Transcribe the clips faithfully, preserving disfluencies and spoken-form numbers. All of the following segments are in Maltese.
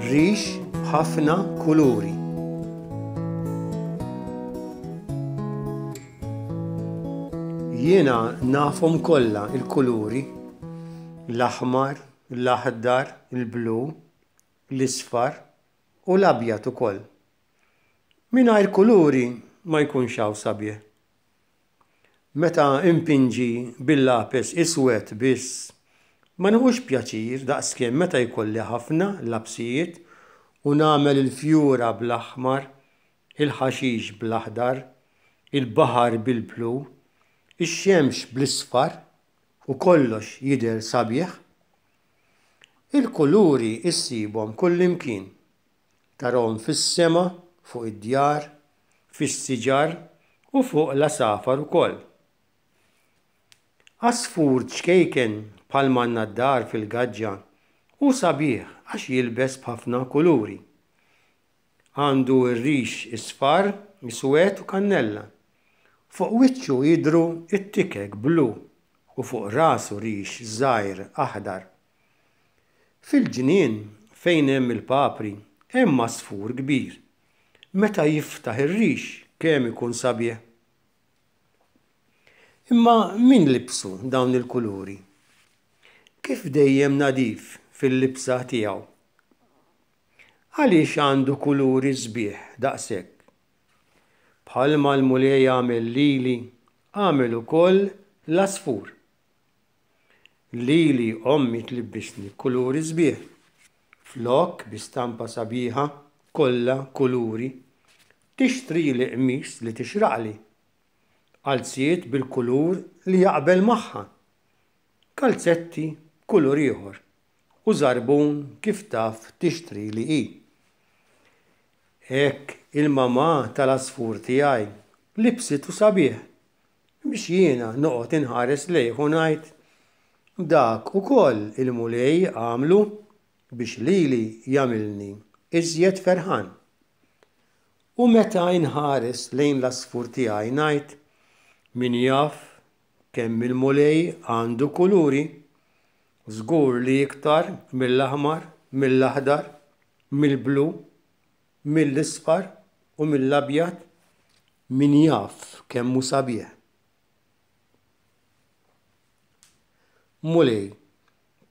Rix b'ħafna kuluri. Jiena nafhom kollha il-kuluri: l-aħmar, l-aħdar, il-blu, l-isfar u l-abjad ukoll. Mingħajr kuluri ma jkunx hawn sabiħ. Meta impinġi bil-lapes iswed biss, ma nieħux pjaċir daqskemm meta jkolli ħafna lapsijiet u nagħmel il-fjura bl-aħmar, il-ħaxix bl-aħdar, il-baħar bil-blu, ix-xemx bl-isfar u kollox jidher sabiħ. Il-kuluri issibhom kullimkien. Tarahom fis-sema, fuq id-djar, fis-siġar u fuq l-għasafar ukoll. Għasfur ċkejken bħal m'għandna d-dar fil-gaġġa hu sabiħ għax jilbes b'ħafna kuluri. Għandu r-rix isfar, iswed u kannella. Fuq wiċċu jidhru t-tikek blu u fuq rasu rix żgħir aħdar. Fil-ġnien fejn hemm il-papri hemm għasfur kbir. Meta jiftaħ ir-rix kemm ikun sabiħ. Imma min libsu dawn il-kuluri? Kif dejjem nadif fil-libsa tiegħu? Għaliex għandu kuluri sbieħ daqshekk? Bħalma l-Mulej għamel lili, għamel ukoll l-għasfur. Lili ommi tlibbisni kuluri sbieħ. Flok bi stampa sabiħa, kollha kuluri, tixtrili qmis li tixraqli. Qalziet bil-kulur li jaqbel magħha. Kalzetti b'kulur ieħor u żarbun kif taf tixtrili hi. Hekk il-mamà tal-għasfur tiegħi libsitu sabiħ biex jiena noqgħod inħares lejh u ngħid, dak ukoll il-Mulej għamlu biex lili jagħmilni iżjed ferħan. U meta inħares lejn l-għasfur tiegħi ngħid, min jaf kemm il-Mulej għandu kuluri, żgur li iktar mill-aħmar, mill-aħdar, mill-blu, mill-isfar u mill-abjad, min jaf kemm hu sabiħ. Mulej,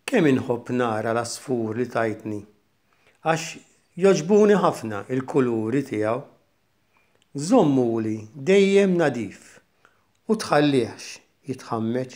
kemm inħobb nara l-għasfur li tajtni, għax jogħġbuni ħafna il-kuluri tiegħu. Żommuli dejjem nadif u tħallihx jitħammeġ.